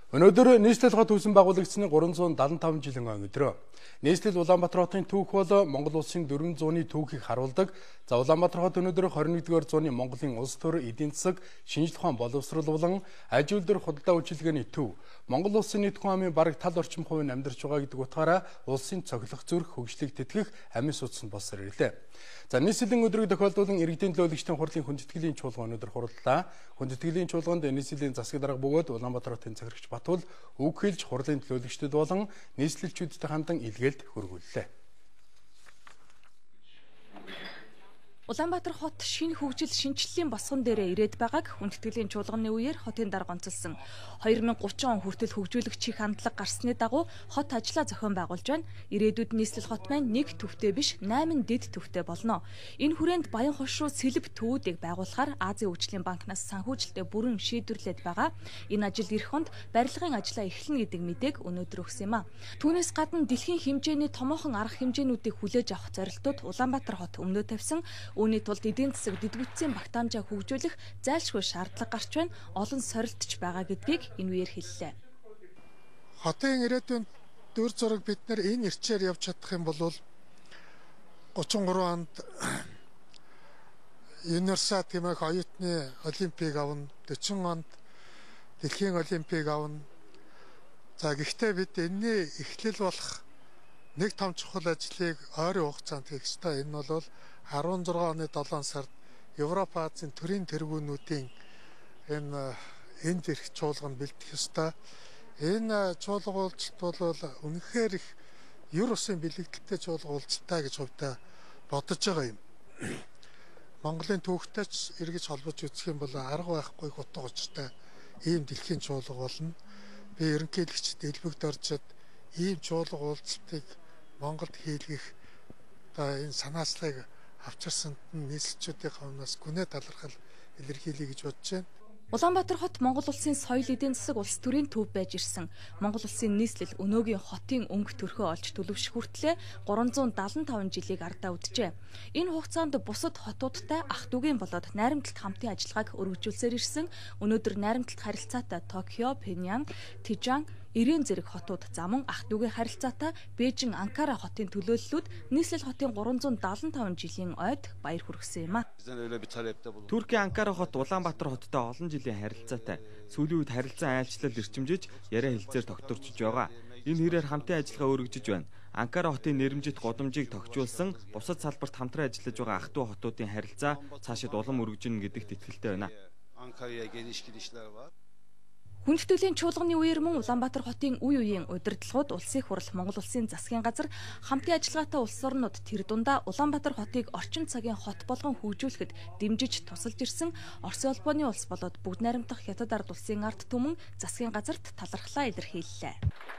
Өнөөдөр нийслэл хот үүсэн байгуулагдсны 375 жилийн өдрөө. Нийслэл Улаанбаатар хотын түүх бол Монгол улсын 400-ны түүхийг харуулдаг. За Улаанбаатар хот өнөөдөр 21-р зууны Монголын улс төр, эдийн засаг, шинжлэх ухаан боловсрол болон аж үйлдвэр худалдаа үйлчилгээний төв. Монгол улсын нийт хүн амын бараг тал орчим хувийн амьдарч байгаа гэдэг утгаараа улсын цоглох зүрх, хөгжлийг тэтгэх амин судас нь болсоор ирлээ. За нийслэлийн өдрийг тохиолдуулан иргэдийн төлөөлөгчдийн хурлын хүндэтгэлийн чуулган өнөөдөр хурлаа. Хүндэтгэлийн чуулганд нийслэлийн засаг дарга бөгөөд Улаанбаатар хотын захирагч Батул үг хэлж хурлын төлөөлөгчдөд болон нийслэлчүүдтэй хандан илгээлт хөргүүллээ. Улаанбаатар хот шинэ хөгжил шинжиллийн босгон дээрээ ирээд байгааг хүндэтгэлийн чуулганы үеэр хотын дарга онцолсон. 2030 он хүртэл хөгжүүлэгчийн хандлага гарсны дагуу хот ажлаа зохион байгуулж байна. Ирээдүйд нийслэл хот маань нэг төвтэй биш 8 дэд төвтэй болно. Энэ хүрээнд Баян хошуу сэлб төвүүдийг байгуулахаар Азийн хөгжлийн банкнаас санхүүжилтээ бүрэн шийдвэрлээд байгаа. Энэ ажил эх хонд барилгын ажлаа эхлэнэ гэдэг мэдээг өнөөдөр өгсөн юм а. Түүнээс гадна дэлхийн хэмжээний томоохон арга хэмжээнүүдийг хүлээж авах зорилтууд Улаанбаатар хот өмнөө тавьсан. Үүний тулд эдийн засаг дэдгүйтсийн багтаамжаа хөгжүүлэх зайлшгүй шаардлага гарч байна. Олон сорилтч байгаа гэдгийг энэ үеэр хэллээ. Хотын ирээдүйн дүр зураг бид нар энэ ирчээр явж чадах юм бол 33 онд Юнерса гэмээх оюутны олимпийг авна, 40 онд дэлхийн олимпийг авна. За гэхдээ бид энэний эхлэл болох нэг том чухал ажлыг ойрын хугацаанд хийх ёстой. Энэ бол 16 оны 7 сард Европ Азийн төрийн тэргүүнүүдийн энд ирэх чуулганд бэлдэх ёстой. Энэ чуулга уулзалт бол үнэхээр их юр усын бэлэгдэлтэй чуулга уулзалтай гэж хувьдаа бодож байгаа юм. Монголын түүхтэй ч эргэж холбож үзэх юм бол арга байхгүй утга учиртай ийм дэлхийн чуулга болно. Би ерөнхийлөгчд элбэгд оржод ийм чуулга уулзалтыг Монголд хийлгэх энэ санаачлалыг авчирсанд нь нийслэлчүүдийн хамнаас гүнээ талархал илэрхийлье гэж бодож байна. Улаанбаатар хот Монгол улсын соёл эдийн засаг улс төрийн төв байж ирсэн. Монгол улсын нийслэл өнөөгийн хотын өнгө төрхөө олж төлөвшөх хүртлээр 375 жилийг ардаа үджээ. Энэ хугацаанд бусад хотуудтай ах дүүгийн болоод найрамдалт хамтын ажиллагааг өргөжүүлсээр ирсэн. Өнөөдөр найрамдалт харилцаатай Токио, Пеньян, Тижан, Ирээн зэрэг хотууд замун ах дүүгийн харилцаатай Бээжин, Анкара хотын төлөөллүүд нийслэл хотын 375 жилийн ойд баяр хүргэсэн юм а. Туркийн Анкара хот Улаанбаатар хоттой олон жилийн харилцаатай. Сүүлийн үед харилцан айлчлал эрчимжиж яриа хэлцээр тогтворчж байгаа. Энэ хэрээр хамтын ажиллагаа өргөжөж байна. Анкара хотын нэрэмжит годомжийг тогтжуулсан бусад салбарт хамтран ажиллаж байгаа ах дүү хотуудын харилцаа цаашид улам өргөжнө гэдэгт итгэлтэй байна. Хүндэтгэлийн чуулганы үеэр мөн Улаанбаатар хотын үе үеийн удирдлагууд, улсын хурал, Монгол улсын засгийн газар, хамтын ажиллагаатай улс орнууд тэр дундаа Улаанбаатар хотыг орчин цагийн хот болгон хөгжүүлэхэд дэмжиж тусалж ирсэн Оросын улбооны улс болоод бүгд найрамдах Хятад ард улсын ард түмэн засгийн газарт талархлаа илэрхийллээ.